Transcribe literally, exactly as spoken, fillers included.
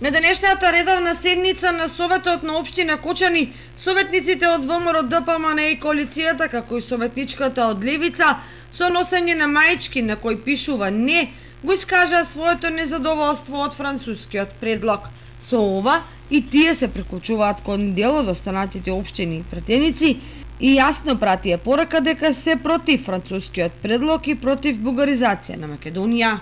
На денешната редовна седница на Советот на општина Кочани, советниците од ВМРО Д П М Н и коалицијата, како и советничката од Левица, со носење на маички на кој пишува не, го искажаа своето незадоволство од францускиот предлог. Со ова и тие се приклучуваат кон дел од останатите општини и пратеници и јасно пратија порака дека се против францускиот предлог и против бугаризација на Македонија.